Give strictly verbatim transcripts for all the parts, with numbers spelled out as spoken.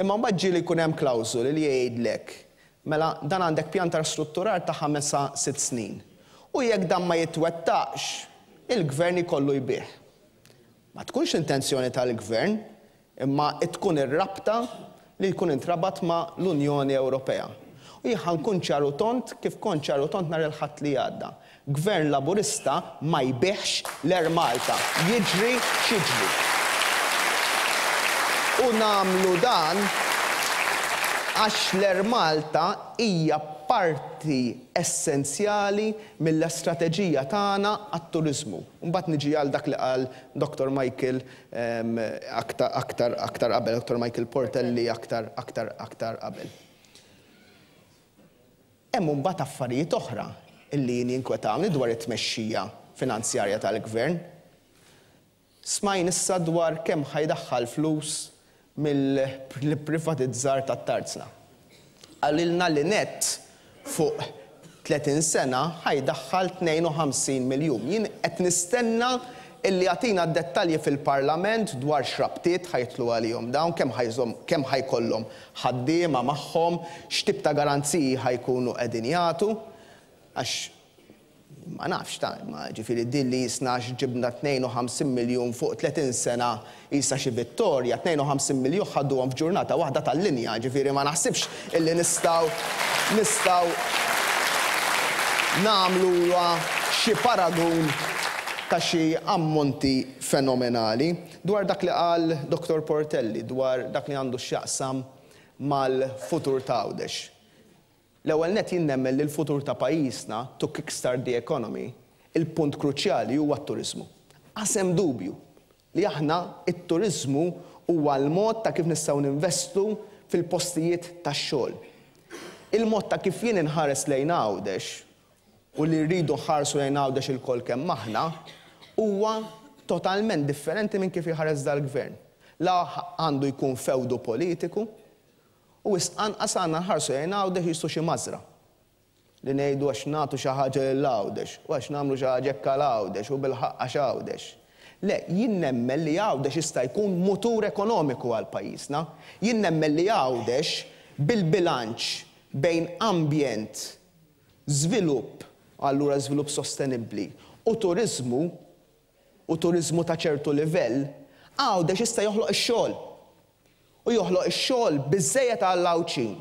Imma mbagħad ġieli jkun hemm klawżoli li jgħidlek, mela dan għandek pjan ta' strutturar ta' ħames sa sitt snin. U jekk dan ma jitwettaqx, il-gvern ikollu jbigħ. Ma tkunx intenzjoni tal-gvern, imma tkun ir-rabta li jkun intrabat ma' l-Unjoni Ewropea. U jien ħa nkun ċar u tond kif kont ċar u tond nhar il-Ħadd li għadda. Gvern Laburista ma jbigħx l-Air Malta. Jiġri x'jiġri. U nagħmlu dan għax l-Air Malta hija parti essenzjali mill-istrateġija tagħna għat-turiżmu. Mbagħad niġi għal dak li qal Doktor Michael, ehm, aktar, aktar, aktar qabel, Doktor Michael Portelli aktar, aktar, aktar qabel. Hemm mbagħad affarijiet oħra illi jien jinkwetawni dwar it-tmexxija finanzjarja tal-gvern. Smajn issa dwar kemm ħajdaħħal flus mill-privatizzar tat-tarzna. Qalilna li net fuq tletin sena ħajdaħħal tnejn u ħamsin miljun. Jien qed nistenna illi jagħtina d-dettalji fil-Parlament dwar x'rabtiet ħajtlu għalihom dawn, kemm ħajżom, kemm ħajkollhom ħaddiema magħhom, x'tip ta' garanziji ħajkunu qegħdin jagħtu. Għax ma nafx ta' ma ġifieri din li jisna għax ġibna tnejn u ħamsin miljun fuq tletin sena jisa xi vittorja, tnejn u ħamsin miljun ħadduhom f'ġurnata waħda tal-linja, ġifieri ma naħsibx illi nistgħu, nistgħu nagħmluha xi paragun ta' xi ammonti fenomenali. Dwar dak li qal Doktor Portelli, dwar dak li għandu x'jaqsam mal-futur ta' Għawdex. L-ewwel nett jien nemmen li l-futur ta' pajjiżna to kickstart the economy, il-punt kruċjali huwa t-turiżmu. Qasem dubju li aħna it-turiżmu huwa l-mod ta' kif nistgħu ninvestu fil-postijiet tax-xogħol. Il-mod ta' kif jien inħares lejn Għawdex u li rridu nħarsu lejn Għawdex ilkoll kemm aħna huwa totalment differenti minn kif iħares dal-gvern. La għandu jkun fewdu politiku, u wisq anqas għandna nħarsu lejn Għawdex jistu xi mażra. Li ngħidu għax nagħtu xi ħaġa lil Għawdex, u għax nagħmlu xi ħaġa hekk għal Għawdex u bil-ħaqq għax Għawdex. Le, jien nemmen li Għawdex jista' jkun mutur ekonomiku għal pajjiżna. Jien nemmen li Għawdex bil-bilanċ bejn ambjent, żvilupp, allura żvilupp sostenibbli, u turiżmu, u turiżmu ta' ċertu livell, Għawdex jista' joħloq ix-xogħol. U joħloq ix-xogħol biżżejjed għall-Għawdxin.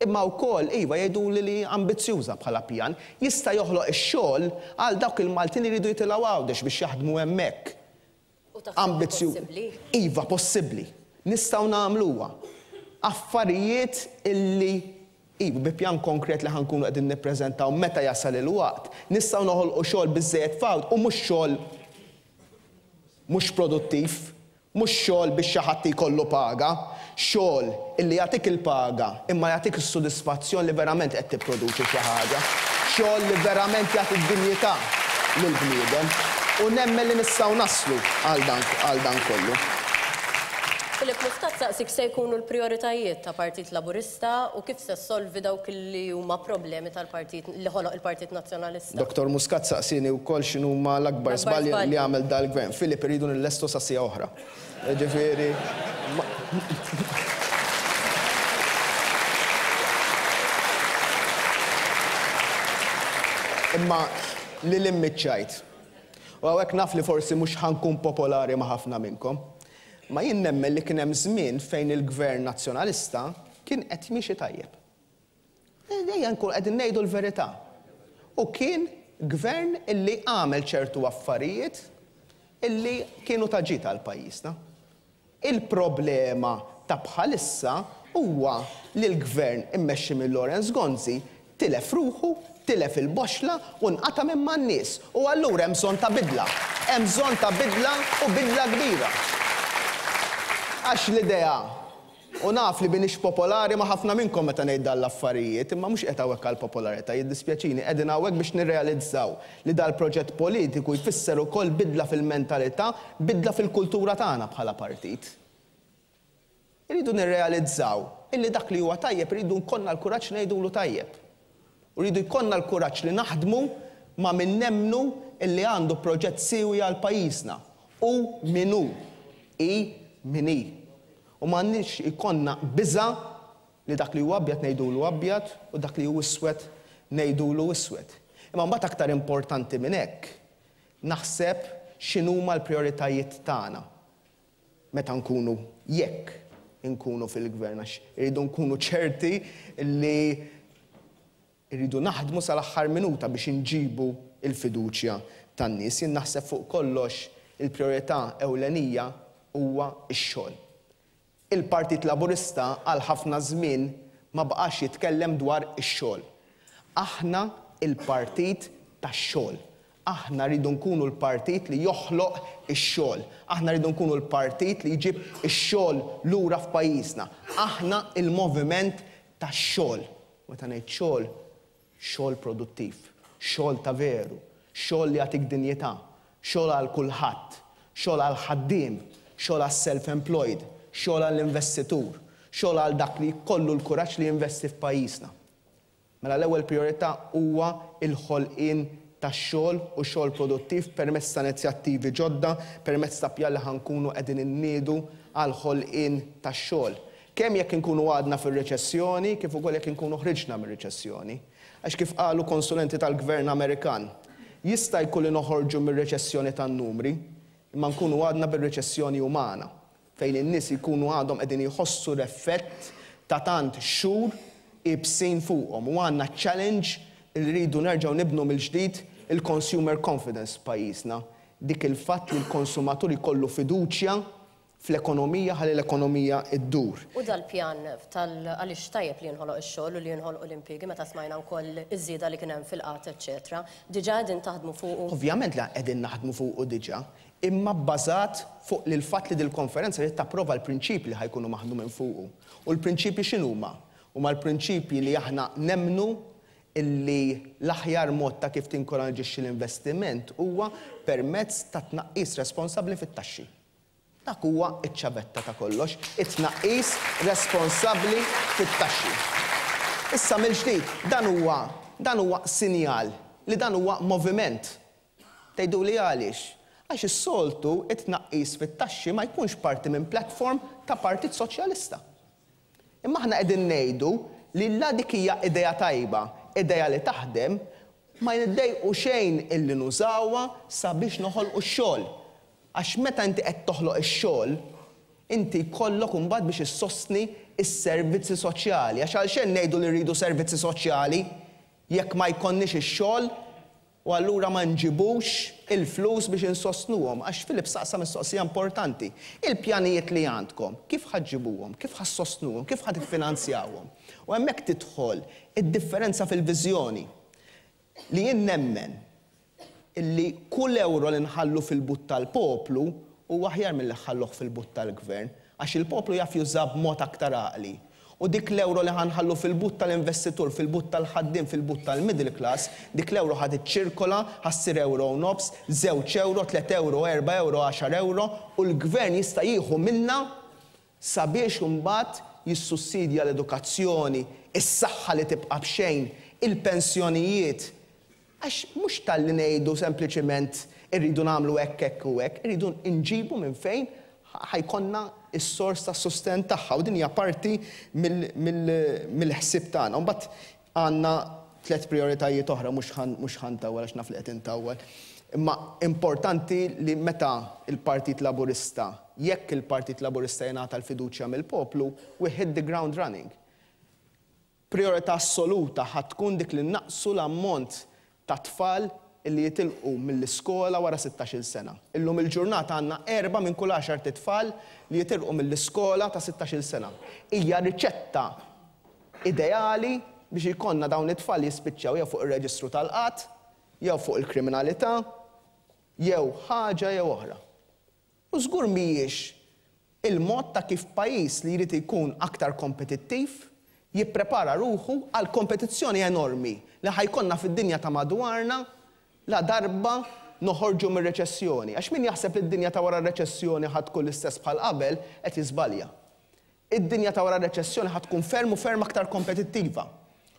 Imma wkoll, iva, jgħiduli li ambizzjuża bħala pjan, jista' joħloq ix-xogħol għal dawk il-Maltin li jridu jitilgħu Għawdex biex jaħdmu hemmhekk. U taħseb li Ambizzju- possibbli? Iva, possibbli. Nistgħu nagħmluha. Affarijiet illi iva, bi pjan konkret li ħankunu qegħdin nippreżentaw meta jasal il-waqt, nistgħu noħolqu xogħol biżżejjed f'Għawdex u mhux xogħol mhux produttiv, mhux xogħol biex xi ħadd jkollu paga, xogħol illi jagħtik il-paga imma jagħtik is-sodisfazzjon li verament qed tipproduċi xi ħaġa, xogħol li verament jagħti d-dinjità lill-bniedem u nemmen li nistgħu naslu għal dan, għal dan kollu. Philip Muscat saqsik se jkunu l-prioritajiet ta' Partit Laburista u kif se solvi dawk li huma problemi tal-partit li ħoloq il-Partit Nazzjonalista. Doktor Muscat saqsini wkoll x'inhuma l-akbar L-akbar żbalji żbalji. li għamel dal-gvern. Philip, irridu nillestu sa sija oħra. Ġifieri, ma- Imma li l-immiċċajt. U hawnhekk naf li forsi mhux ħankun popolari ma' ħafna minnkom. Ma jien nemmen li kien hemm żmien fejn il-Gvern Nazzjonalista kien qed miexi tajjeb. Ejja nkun qegħdin ngħidu l-verità. U kien gvern illi għamel ċertu affarijiet illi kienu ta' ġid għal pajjiżna. Il-problema ta' bħalissa huwa li l-gvern immexxi minn Lawrence Gonzi tilef ruħu, tilef il-boxla u nqata' minn man-nies. U allura hemm bżonn ta' bidla. Hemm bżonn ta' bidla u bidla kbira. Għax l-idea, u naf li binix popolari ma' ħafna minnkom meta ngħid dan l-affarijiet, imma mhux qed hawnhekk għall-popolarità, jiddispjaċini, qegħdin hawnhekk biex nirrealizzaw li dal-proġett politiku jfisser ukoll bidla fil-mentalità, bidla fil-kultura tagħna bħala partit. Irridu nirrealizzaw illi dak li huwa tajjeb irridu nkollna l-kuraġġ ngħidulu tajjeb. U rridu jkollna l-kuraġġ li naħdmu ma' min nemmnu illi għandu proġett siewi għal pajjiżna. U min hu, i min hi. U m'għandniex ikollna biża' li dak li huwa abjad ngħidulu abjad u dak li hu iswed ngħidulu iswed. Imma mbagħad aktar importanti minn hekk, naħseb x'inhuma l-prijoritajiet tagħna meta nkunu, jekk inkunu fil-gvern, għax irridu nkunu ċerti li irridu naħdmu sal-aħħar minuta biex inġibu il-fiduċja tan-nies. Jien naħseb fuq kollox il-priorità ewlenija huwa x-xogħol. Il-Partit Laburista għal ħafna żmien ma baqax jitkellem dwar ix-xogħol. Aħna il-partit tax-xogħol. Aħna rridu nkunu l-partit li joħloq ix-xogħol. Aħna rridu nkunu l-partit li jġib ix-xogħol lura f'pajjiżna. Aħna il-moviment tax-xogħol. Meta ngħid xogħol, xogħol produttiv, xogħol ta' veru, xogħol li jagħtik dinjità, xogħol għal kulħadd, xogħol għal ħaddiem, xogħol għas self-employed, xogħol għall-investitur, xogħol għal dak li jkollu l-kuraġġ li jinvesti f'pajjiżna. Mela l-ewwel priorità huwa il-ħolqien tax-xogħol u xogħol produttiv permezz ta' inizjattivi ġodda, permezz ta' pjan li ħa nkunu qegħdin inniedu għal ħolqien tax-xogħol. Kemm jekk inkunu għadna fir-reċessjoni, kif ukoll jekk inkunu ħriġna mir-reċessjoni. Għax kif qalu konsulenti tal-Gvern Amerikan, jista' jkun li noħorġu mir-reċessjoni tan-numri, imma nkunu għadna bir-reċessjoni umana, fejn in-nies jkunu għadhom qegħdin jħossu l-effett ta' tant xhur ibsin fuqhom u għandna challenge li rridu nerġgħu nibnu mill-ġdid il-consumer confidence f'pajjiżna. Dik il-fatt li l-konsumatur jkollu fiduċja fl-ekonomija ħalli l-ekonomija iddur. U dal-pjan tal għaliex tajjeb li jinħoloq ix-xogħol u li jinħolqu l-impjiegi meta smajna wkoll iż-żieda li kien hemm fil-qgħad, eċċetera. Diġà qegħdin taħdmu fuqu. Ovvjament li qegħdin naħdmu fuqu diġà, imma bbażat fuq li l-fatt li dil-konferenza li tapprova l-prinċipji li ħa jkunu maħdumin fuqu. U l-prinċipji x'inhuma? Huma l-prinċipji li aħna nemmnu illi l-aħjar mod ta' kif tinkoraġixxi l-investiment huwa permezz ta' tnaqqis responsabbli fit-taxxi. Dak huwa iċ-ċavetta ta' kollox, it-tnaqqis responsabbli fit-taxxi. Issa mill-ġdid, dan huwa dan huwa sinjal li dan huwa moviment. Tgħidu li għaliex? Għax is-soltu it-tnaqqis fit-taxxi ma jkunx parti minn platform ta' Partit Soċjalista. Imma aħna qegħdin ngħidu li la dik hija idea tajba, idea li taħdem, ma niddejqu xejn illi nużawha sabiex noħolqu x-xogħol. Għax meta inti qed toħloq ix-xogħol, inti jkollok imbagħad biex issostni s-servizzi soċjali. Għax għalxejn ngħidu li rridu servizzi soċjali jekk ma jkollniex ix-xogħol u allura ma nġibux il-flus biex insostnuhom. Għax Filip saqsa mistoqsija importanti. Il-pjanijiet li għandkom, kif ħa ġġibuhom, kif ħa ssostnuhom, kif ħa tiffinanzjawhom? U hemmhekk tidħol id-differenza fil-viżjoni li jien nemmen illi kull euro li nħallu fil-but tal-poplu huwa aħjar milli nħalluh fil-but tal-gvern, għax il-poplu jaf juża b'mod aktar għaqli. U dik l-euro li ħa nħallu fil-but tal-investitur, fil-but tal-ħaddiem, fil-but tal-middle class, dik l-euro ħa tiċċirkola, ħa ssir euro u nofs, żewġ euro, tliet euro, erba' euro, għaxar euro, u l-gvern jista' jieħu minna sabiex imbagħad jissussidja l-edukazzjoni, is-saħħa li tibqa' b'xejn, il-pensjonijiet. Għax mhux talli ngħidu sempliċiment irridu nagħmlu hekk, hekk u hekk, irridu nġibu minn fejn ħa jkollna is-sors ta' sosten tagħha u din hija parti mill-ħsieb tagħna. Mbagħad għandna tliet prioritajiet oħra, mhux ħa ntawwal għax naf li qed intawwal. Imma importanti li meta il-Partit Laburista, jekk il-Partit Laburista jingħata l-fiduċja mill-poplu, we hit the ground running. Priorità assoluta ħa tkun dik li naqsu l-ammont ta' tfal illi jitilqu mill-iskola wara sittax-il sena. Illum il-ġurnata għandna erba' minn kull għaxar tfal li jitilqu mill-iskola ta' sittax-il sena. Hija riċetta ideali biex ikollna dawn it-tfal jispiċċaw jew fuq ir-reġistru tal-qgħad, jew fuq il-kriminalità, jew ħaġa jew oħra. U żgur mhijiex il-mod ta' kif pajjiż li jrid ikun aktar kompetittiv jipprepara ruħu għal kompetizzjoni enormi li ħa jkollna fid-dinja ta' madwarna la darba noħorġu mir-reċessjoni. Għax min jaħseb li d-dinja ta' wara r-reċessjoni ħa tkun l-istess bħal qabel qed jiżbalja. Id-dinja ta' wara r-reċessjoni ħa tkun ferm u ferm aktar kompetittiva.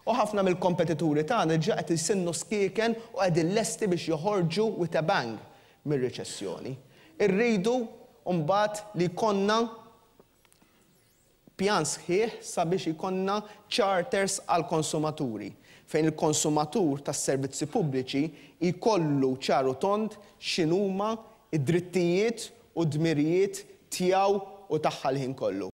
U ħafna mill-kompetituri tagħna diġà qed isinnu skieken u qegħdin lesti biex joħorġu with a bang mir-reċessjoni. Irridu mbagħad li jkollna Pjan sħiħ sabiex ikollna charters għall-konsumaturi, fejn il-konsumatur tas-servizzi pubbliċi jkollu ċar u tond x'inhuma id-drittijiet u d-dmirijiet tiegħu u tagħha l-ħin kollu.